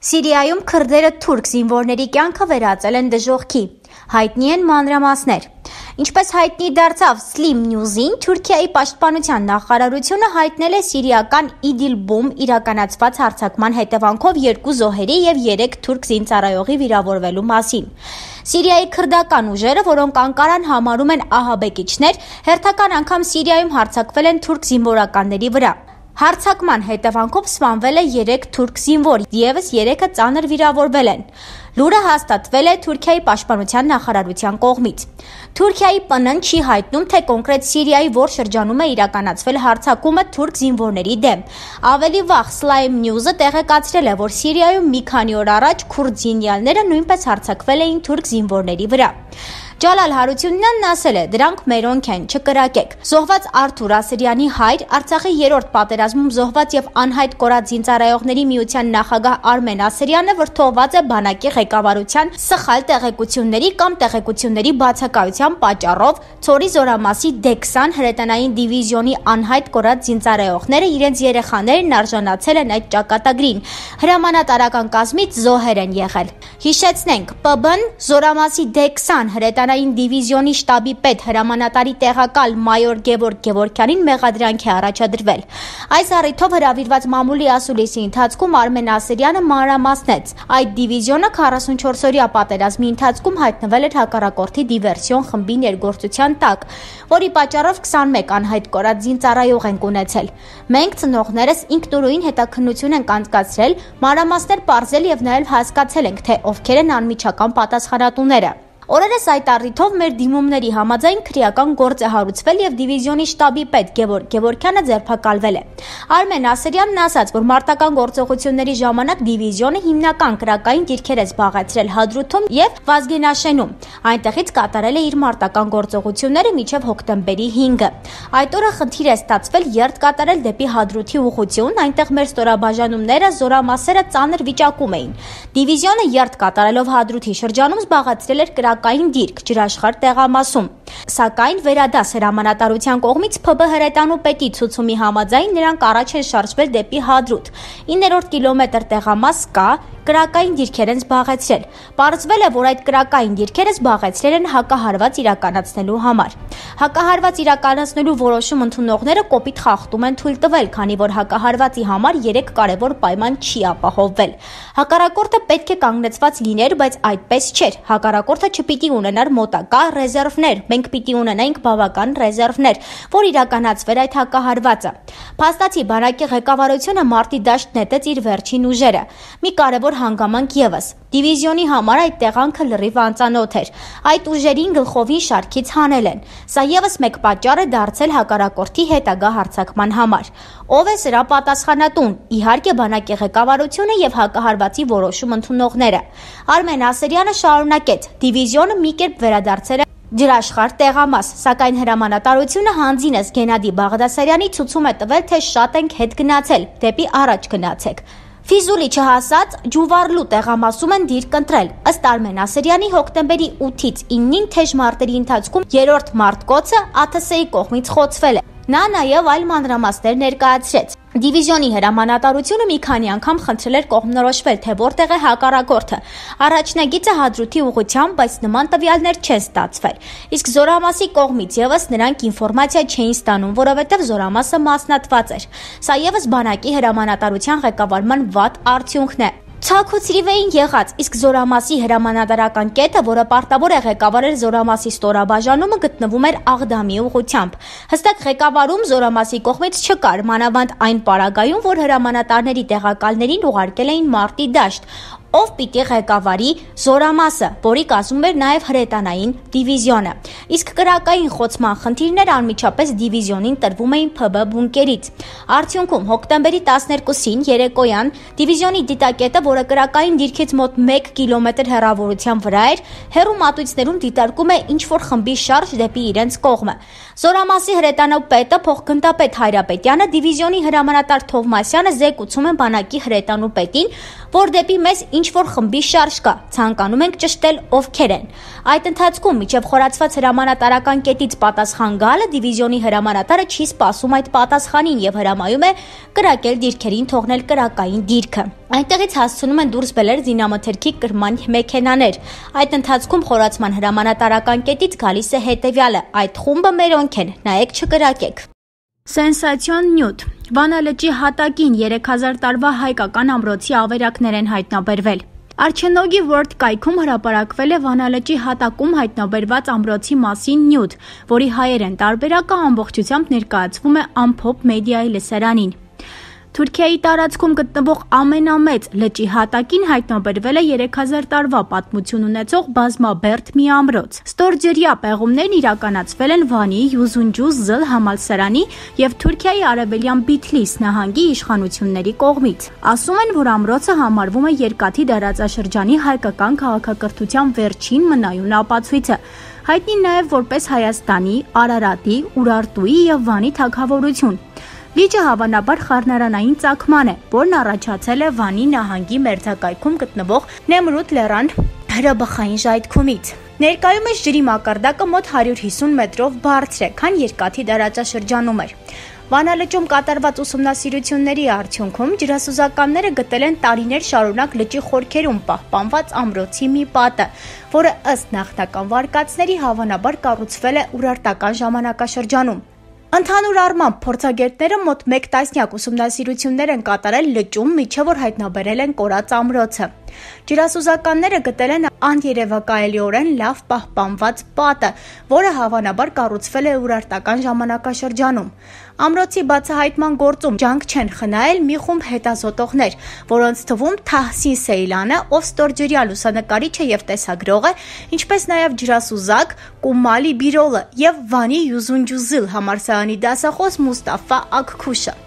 Սիրիայում քրդերը թուրք զինվորների կյանքը վերածել են դժոխքի, հայտնի են մանրամասներ։ Ինչպես հայտնի դարձավ Slim News-ին, Թուրքիայի պաշտպանության նախարարությունը հայտնել է սիրիական Իդիլբում իրականացված հարձակման հետևանքով 2 զոհերի և 3 թուրք զինծառայողի վիրավորվելու մասին։ Սիրիայի քրդական ուժերը, որոնք Անկարան համարում են ահաբեկիչներ, հերթական անգամ Սիրիայում հարձակվել են թուրք զինվորականների վրա։ Հարձակման հետևանքով սպանվել է 3 թուրք զինվոր, ևս 3-ը ծանր վիրավորվել են։ Լուրը հաստատվել է Թուրքիայի պաշտպանության նախարարության կողմից։ Թուրքիայի ՊՆ-ն չի հայտնում, թե կոնկրետ Սիրիայի որ շրջանում է իրականացվել հարձակումը թուրք զինվորների դեմ։ Ավելի վաղ Slim News-ը տեղեկացրել է, որ Սիրիայում մի քանի օր առաջ քուրդ զինյալները նույնպես հարձակվել էին թուրք զինվորների վրա։ Ջալալ Հարությունյանն ասել է, դրանք մերոնք են, չկրակեք։ Զոհված Արթուր Ասրյանի հայր, Արցախի 3-րդ պատերազմում զոհված եւ անհայտ կորած զինծառայողների միության նախագահ Արմեն Ասրյանը վրդովված է բանակի ղեկավարության սխալ տեղեկությունների կամ տեղեկությունների բացակայության պատճառով Ցորի զորամասի D20 հրետանային դիվիզիոնի անհայտ կորած զինծառայողները իրենց երեխաներն արժանացել են այդ ճակատագրին։ Հրամանատարական կազմից զոհեր են եղել։ Հիշեցնենք, ՊԲ-ն զորամասի D20 հրետանային դիվիզիոնի շտաբի պետ հրամանատարի տեղակալ մայոր Գևորգ Գևորգյանին մեղադրանք է առաջադրվել։ Այս առիթով հրավիրված մամուլի ասուլիսի ընթացքում Արմեն Ասրյանը մանրամասնեց, այդ դիվիզիոնը 44-օրյա պատերազմի ընթացքում հայտնվել էր հակառակորդի դիվերսիոն խմբի ներգործության տակ, որի պատճառով 21 անհայտ կորած զինծառայող ենք ունեցել։ Մենք ծնողներս ինքնուրույն հետաքննություն ենք անցկացրել, մանրամասներ պարզել եւ նաեւ հասկացել ենք, թե ովքեր են անմիջական պատասխանատուները։ Օրերս այդ առիթով մեր դիմումների համաձայն քրեական գործ է հարուցվել եւ դիվիզիոնի շտաբի պետ Գևորգ Գևորգյանը ձերբակալվել է։ Արմեն Ասրյանն ասաց, որ մարտական գործողությունների ժամանակ դիվիզիոնը հիմնական քրակային դիրքեր է զբաղեցրել Հադրութում եւ Վազգենաշենում։ Այնտեղից կատարել է իր մարտական գործողությունները մինչեւ հոկտեմբերի 5-ը։ Այդ օրը խնդիր է ստացվել երթ կատարել դեպի Հադրութի ուղղություն, այնտեղ մեր ստորաբաժանումները զորամասերը ծանր վիճակում էին։ Դիվիզիոնը երթ կատարելով Հադրութի շրջանում զբաղեցրել էր կային դիրք ջրաշխարհ տեղամասում, սակայն վերադաս հրամանատարության կողմից ՓԲ հրետանու պետի ցուցումի համաձայն նրանք առաջ են շարժվել դեպի Հադրութ։ 9-րդ կիլոմետր տեղամաս կա, կրակային դիրքեր են զբաղեցրել։ Պարզվել է, որ այդ կրակային դիրքերը զբաղեցրել են հակահարված իրականացնելու համար։ Հակահարված իրականացնելու որոշում ընդունողները կոպիտ խախտում են թույլ տվել, քանի որ հակահարվածի համար 3 կարևոր պայման չի ապահովվել։ Հակառակորդը պետք է կանգնեցված լիներ, բայց այդպես չէր։ Հակառակորդը չպիտի ունենար մոտակա ռեզերվներ, մենք պիտի ունենայինք բավական ռեզերվներ, որ իրականացվեր այդ հակահարվածը։ Փաստացի բանակի ղեկավարությունը մարտի դաշտ նետեց իր վերջին ուժերը։ Մի կարևոր հանգամանք ևս։ Դիվիզիոնի համար այդ տեղանքը լրիվ անծանոթ էր։ Այդ ուժերին գլխովին շարքից հանել են։ Սա ևս մեկ պատճառ է դարձել հակառակորդի հետագա հարձակման համար։ Ով է սրա պատասխանատուն։ Իհարկե բանակի ղեկավարությունը եւ հակահարվածի որոշում ընդունողները։ Արմեն Ասրյանը շարունակեց. դիվիզիոնը մի կերպ վերադարձել է ջրաշխարհ տեղամաս, սակայն հրամանատարությունը հանձինս Գենադի Բաղդասարյանի ցուցում է տվել, թե շատ ենք հետ գնացել, դեպի առաջ գնացեք։ Ֆիզուլի չհասած Ջուվարլու տեղամասում են դիրք ընտրել։ Ըստ Արմեն Ասրյանի հոկտեմբերի 8-ից 9-ին թեժ մարտերի ընթացքում 3-րդ մարտկոցը ԱԹՍ-ի կողմից խոցվել է։ Նա նաև այլ մանրամասներ ներկայացրեց։ Դիվիզիոնի հրամանատարությունը մի քանի անգամ խնդրել էր կողմնորոշվել, թե որտեղ է հակառակորդը։ Առաջնագիծը Հադրութի ուղղությամբ, բայց նման տվյալներ չեն ստացվել։ Իսկ զորամասի կողմից ևս նրանք ինֆորմացիա չէին ստանում, որովհետև զորամասը մասնատված էր։ Սա ևս բանակի հրամանատարության ղեկավարման վատ արդյունքն է։ Ցաքուցրիվ էին եղած, իսկ զորամասի հրամանատարական կետը, որը պարտավոր է ղեկավարել զորամասի ստորաբաժանումը, գտնվում էր Աղդամի ուղղությամբ։ Հստակ ղեկավարում զորամասի կողմից չկար, մանավանդ այն պարագայում, որ հրամանատարների տեղակալներին ուղարկել էին մարտի դաշտ, ով պիտի ղեկավարի զորամասը, որի կազմում էր նաև հրետանային դիվիզիոնը։ Իսկ կրակային խոցման խնդիրներ անմիջապես դիվիզիոնին տրվում էին ՓԲ բունկերից։ Արդյունքում հոկտեմբերի 12-ին երեկոյան դիվիզիոնի դիտակետը, որը կրակային դիրքից մոտ 1 կիլոմետր հեռավորության վրա էր, հեռու մատույցներում դիտարկում է ինչ-որ խմբի շարժ դեպի իրենց կողմը։ Զորամասի հրետանու պետը փոխգնդապետ Հայրապետյանը, դիվիզիոնի հրամանատար Թովմասյանը զեկուցում են բանակի հրետանու պետին, որ դեպի մեզ ինչ-որ խմբի շարժ կա, ցանկանում ենք ճշտել ովքեր են։ Այդ ընթացքում մինչև խորացված հրամանատարական կետից պատասխան գալը դիվիզիոնի հրամանատարը չի սպասում այդ պատասխանին եւ հրամայում է կրակել դիրքերին, թողնել կրակային դիրքը։ Այնտեղից հասցնում են դուրս բերել զինամթերքի կրման մեքենաներ։ Այդ ընթացքում խորացման հրամանատարական կետից գալիս է հետևյալը. այդ խումբը մերոնք են, նայեք չկրակեք։ Սենսացիոն նյութ։ Վանա լճի հատակին 3000 տարվա հայկական ամրոցի ավերակներ են հայտնաբերվել։ Արչենոգի World կայքում հրապարակվել է Վանա լճի հատակում հայտնաբերված ամրոցի մասին նյութ, որի հայերեն տարբերակը ամբողջությամբ ներկայացվում է Ամփոփ մեդիայի լսարանին։ Թուրքիայի տարածքում գտնվող ամենամեծ լճի հատակին հայտնաբերվել է 3000 տարվա պատմություն ունեցող բազմաբերդ մի ամրոց։ Ստորջրյա պեղումներն իրականացվել են Վանի Յուզունջուզլ համալսարանի եւ Թուրքիայի արևելյան Բիթլիս նահանգի իշխանությունների կողմից։ Ասում են, որ ամրոցը համարվում է երկաթի դարաձաշրջանի հայկական քաղաքակրթության վերջին մնայուն ապացույցը։ Հայտնի նաև որպես Հայաստանի, Արարատի, Ուրարտուի եւ Վանի թագավորություն։ Լիճը հավանաբար խառնարանային ծագման է, որն առաջացել է Վանի նահանգի մերձակայքում գտնվող Նեմրութ լեռան հրաբխային ժայթքումից։ Ներկայումս ջրի մակարդակը մոտ 150 մետրով բարձր է, քան երկաթի դարաճաշրջանում էր։ Վանա լճում կատարված ուսումնասիրությունների արդյունքում ջրասուզականները գտել են տարիներ շարունակ լճի խորքերում պահպանված ամրոցի մի պատը, որը ըստ նախնական վարկածների հավանաբար կառուցվել է ուրարտական ժամանակաշրջանում։ Ընդհանուր առմամբ փորձագետները մոտ 1 տասնյակ ուսումնասիրություններ են կատարել լճում, միջև որ հայտնաբերել են կորած ամրոցը։ Ջրասուզականները գտել են աներևակայելիորեն լավ պահպանված պատը, որը հավանաբար կառուցվել է ուրարտական ժամանակաշրջանում։ Ամրոցի բացահայտման գործում ջանք չեն խնայել մի խումբ հետազոտողներ, որոնց թվում Թահսին Սեյլանը, ով ստորջրյա լուսանկարիչ է եւ տեսագրող է, ինչպես նաեւ ջրասուզակ Կումալի Բիրոլը եւ Վանի Յուզունջուզլ համալսարանի դասախոս Մուստաֆա Աքքուշը։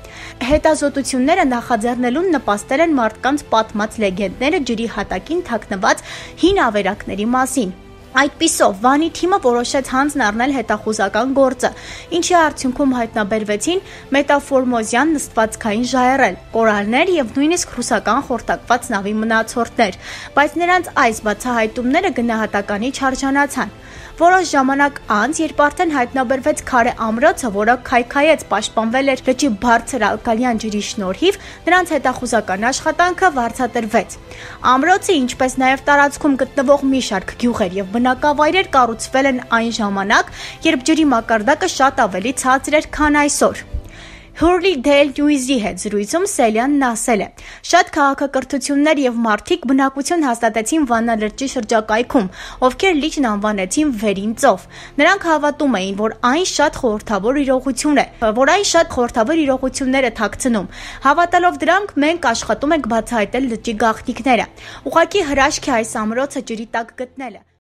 Հետազոտությունները նախաձեռնելուն նպաստել են մարդկանց պատմած լեգենդները ջրի հատակին թաքնված հին ավերակների մասին։ Այդպիսով Վանի թիմը որոշեց հանձն առնել հետախուզական գործը, ինչի արդյունքում հայտնաբերվեցին մետամորֆոզյան նստվածքային ժայռեր, կորալներ եւ նույնիսկ ռուսական խորտակված նավի մնացորդներ, բայց նրանց այս բացահայտումները գնահատականի չարժանացան։ Որոշ ժամանակ անց, երբ արդեն հայտնաբերվեց քարե ամրոցը, որը քայքայեց պաշտպանվել էր լճի բարձր ալկալյան ջրի շնորհիվ, նրանց հետախուզական աշխատանքը վարձատրվեց։ Ամրոցը, ինչպես նաև տարածքում գտնվող մի շարք գյուղեր եւ բնակավայրեր կառուցվել են այն ժամանակ, երբ ջրի մակարդակը շատ ավելի ցածր էր, քան այսօր։ Հուրլի Դել Նյուիզի հետ զրույցում Սելյանն ասել է. շատ քաղաքակրթություններ եւ մարդիկ բնակություն հաստատեցին Վանա լճի շրջակայքում, ովքեր լիճն անվանեցին Վերին ծով։ Նրանք հավատում էին, որ այն շատ խորհրդավոր իրողություն է, որ այն շատ խորհրդավոր իրողություններ է թաքցնում։ Հավատալով դրանք, մենք աշխատում ենք բացահայտել լճի գաղտնիքները։ Ուղղակի հրաշք է այս ամրոցը ջրի տակ գտնելը։